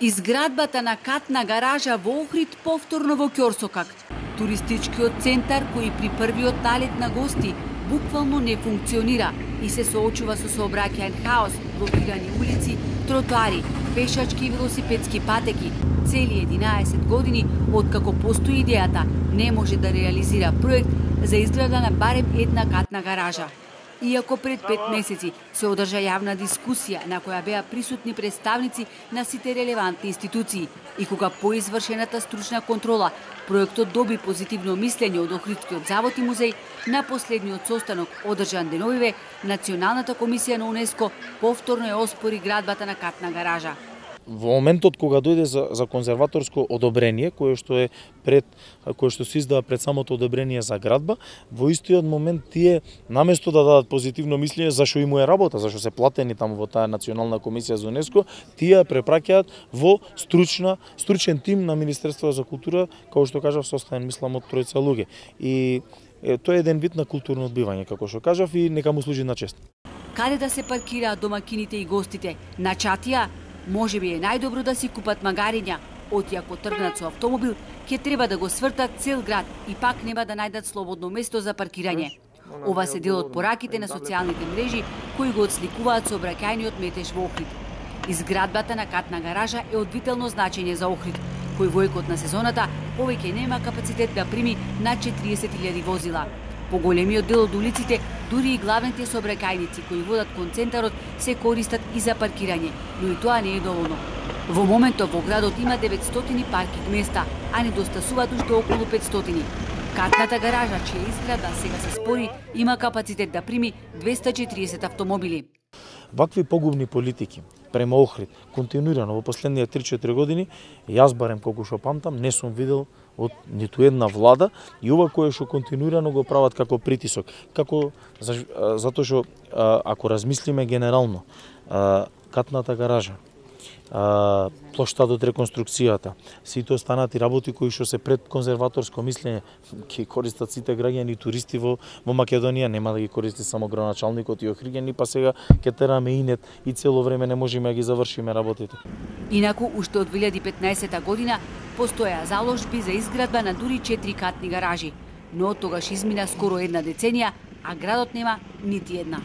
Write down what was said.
Изградбата на катна гаража во Охрид повторно во ќорсокак. Туристичкиот центар кој при првиот налет на гости буквално не функционира и се соочува со сообраќаен хаос, блокирани улици, тротоари, пешачки и велосипедски патеки. Цели 11 години откако постои идејата, не може да реализира проект за изграда на барем една катна гаража. Иако пред 5 месеци се одржа јавна дискусија на која беа присутни представници на сите релевантни институции и кога по извршената стручна контрола проектот доби позитивно мислење од Охридскиот завод и музеј, на последниот состанок одржан деновиве, Националната комисија на УНЕСКО повторно ја оспори градбата на катна гаража. Во моментот кога дојде за конзерваторско одобрение, кое што се издава пред самото одобрение за градба, во истиот момент тие наместо да дадат позитивно мислење зашо им е работа, зашо се платени таму во таа Национална комисија за УНЕСКО, тие препраќаат во стручен тим на Министерството за култура, како што кажав, составен мислам од тројца луѓе. И тоа е еден вид на културно одбивање, како што кажав, и нека му служи на чест. Каде да се паркираат домакините и гостите? На чатија? Може би е најдобро да си купат магариња, оти ако тргнат со автомобил, ќе треба да го свртат цел град и пак нема да најдат слободно место за паркирање. Ова се дел од пораките на социјалните мрежи кои го отсликуваат сообраќајниот метеж во Охрид. Изградбата на катна гаража е од вително значење за Охрид, кој во екот на сезоната повеќе нема капацитет да прими над 40.000 возила. Поголемиот дел од улиците, дури и главните сообраќајници кои водат кон центарот, се користат и за паркирање, но и тоа не е доволно. Во моментот во градот има 900 паркинг места, а недостасуваат уште околу 500. Катната гаража, чија изградба сега се спори, има капацитет да прими 240 автомобили. Вакви погубни политики према Охрид, континуирано во последните 3-4 години, јас барем колку што памтам, не сум видел од ниту една влада, и ова кое што континуирано го прават како притисок, затоа што ако размислиме генерално, катната гаража, плоштадот, реконструкцијата, сите останати работи кои што се пред конзерваторско мислење ќе користат сите граѓани и туристи во Македонија, нема да ги користи само градоначалникот и охриѓани, па сега ќе тераме инет и цело време не можеме да ги завршиме работите. Инаку уште од 2015 година постоја заложби за изградба на дури 4 катни гаражи, но од тогаш измина скоро една деценија, а градот нема нити една.